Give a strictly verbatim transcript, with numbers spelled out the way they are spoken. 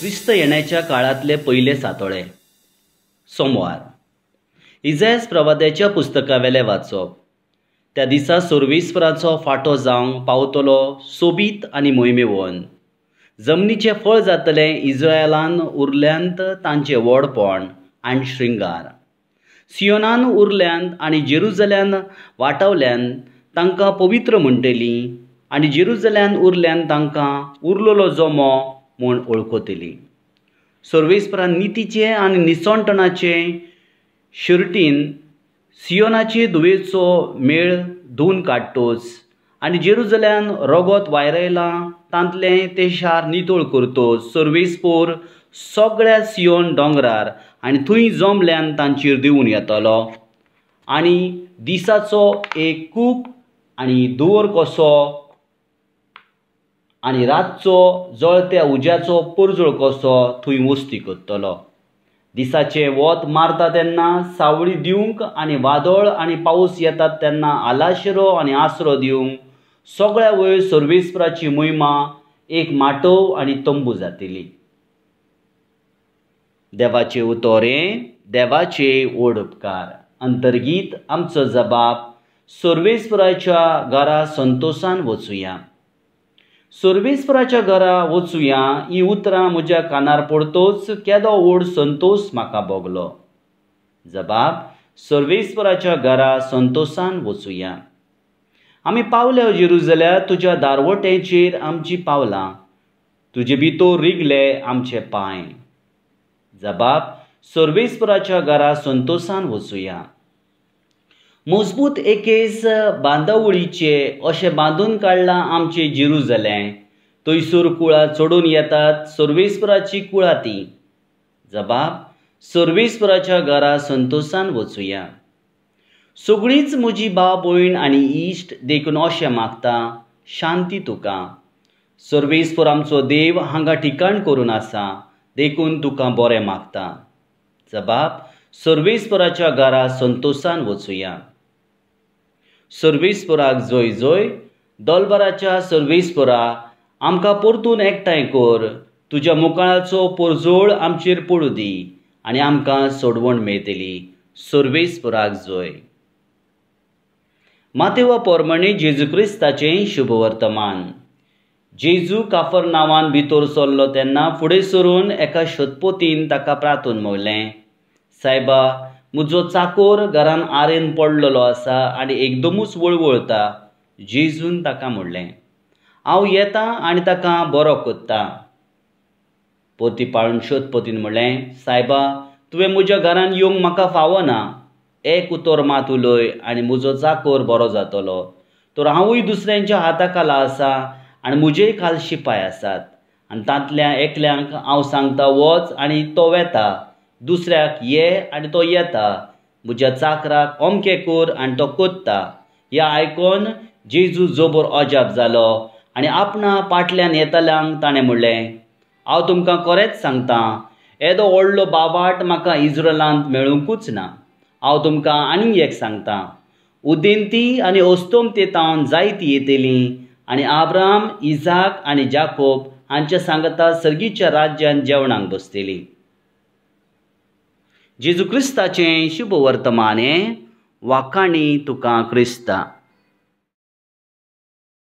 क्रिस्त येण्याच्या काळांतले पयले सातोळे सोमवार. इजायस प्रवाद्याच्या पुस्तकावेले वाचप. त्या दिसा सर्वेस्पराचो फांटो जावंक पावतलो सोबीत आनी मोहिमेवन. जमनीचें फळ जातलें इज्रायलान उरल्यांत तांचें व्हडपण आनी श्रृंगार. सियोनान उरल्यांत आनी जेरुजल्यान वाटावल्यान तांकां पवित्र म्हणटलीं आनी जेरुजल्यान उरल्यान तांकां उरलेलो जमो म्हूण वळखतली. सर्वेस्परान नितीचे आनी निसणटणाचे शर्टीन सियोनाचे धुवेचो मेळ धुवन काडटोच आनी जेरुजल्यान रगत वायरायलां तांतलें तें शार नितळ करतोच. सर्वेस्पोर सगळ्या सियोन दोंगरार आनी थंय जमल्यान तांचेर देंवून येतलो आनी दिसाचो एक कूप आनी धुंवर कसो आनी रातचो जळत्या उज्याचो परजळ कसो थंय वस्ती करतलो. दिसाचें वत मारता तेन्ना सावळी दिवंक आनी वादळ आनी पावस येतात तेन्ना आलाशिरो आनी आसरो दिवंक सगळ्या वयर सर्वेस्पराची मोहिमा एक माटोव आनी तंबू जातली. देवाचे उतोरें देवाचे व्हड उपकार. अंतर्गीत आमचो जबाब सर्वेस्पराच्या घरा संतोसान वचुया. सर्वेस्पराच्या घरा वचुया ही उतरां म्हज्या कानार पडतोच केदो व्हड संतोस म्हाका भोगलो. जबाब सर्वेस्पराच्या घरा संतोसान वचुया. आमी पावल्या जेरुजल्या तुज्या दारवटेचेर आमची पावलां, तुजे भितर रिगले आमचे पांय. जबाब सर्वेस्पराच्या घरा संतोसान वचुया. मजबूत एकेच बांदावळीचे अशें बांदून काडलां आमचें जेरुजलें. थंयसर कुळां चडून येतात सर्वेस्पराची कुळां ती. जबाब सर्वेस्पराच्या घरा संतोसान वचुया. सगळींच म्हजी भाव भयण आनी इश्ट देखून अशें मागता शांती तुका. सर्वेस्पर आमचो देव हांगा ठिकाण करून आसा देखून तुका बरें मागता. जबाब सर्वेस्पराच्या घरा संतोसान वचुया. सर्वेस्पराक जय जय. दोलबराच्या सर्वेस्परा आमकां परतून एकठांय कर. तुज्या मुखाळाचो परजळ आमचेर पडूं दी आनी आमकां सोडवण मेळटली. सर्वेस्पराक जय. मातेवा पोरमणी जेजू क्रिस्ताचें शुभवर्तमान. जेजू काफर नांवान भितर सरलो तेन्ना फुडें सरून एका शतपतीन ताका प्रार्थून म्हणलें, सायबा म्हजो चाकोर घरान आरेन पडलेलो आसा आनी एकदमूच वळवळता. जेजून ताका म्हणलें, हांव येता आनी ताका बरो करता. पोती पाळून शतपतीन म्हणलें, सायबा तुवें म्हज्या घरान येवंक म्हाका फावना. एक उतर मात उलय आनी म्हजो चाकोर बरो जातलो. तर हांवूय दुसऱ्यांच्या हाता खाला आसा आनी म्हजेय खाल शिपाय आसात आनी तांतल्या एकल्यांक हांव सांगता वच आनी तो वेता, दुसऱ्याक ये आनी तो येता, म्हज्या चाकराक अमकें कर आनी तो करता. ह्या आयकोन जेजू जबर अजाप जालो आनी आपणा पाटल्यान येतल्यांक ताणें म्हणलें, हांव तुमकां खरेंच सांगता, येदो व्हडलो बावाट म्हाका इज्रायलांत मेळुंकूच ना. हांव तुमकां आनीक एक सांगता, उदेंती आनी अस्तमते तावन जायती येतलीं आनी आब्राम, इजाक आनी जाकोब हांच्या सांगता सर्गीच्या राज्यान जेवणाक बसतलीं. जेजू क्रिस्ताचें शुभ वर्तमान हें. वाखाणी तुका क्रिस्ता.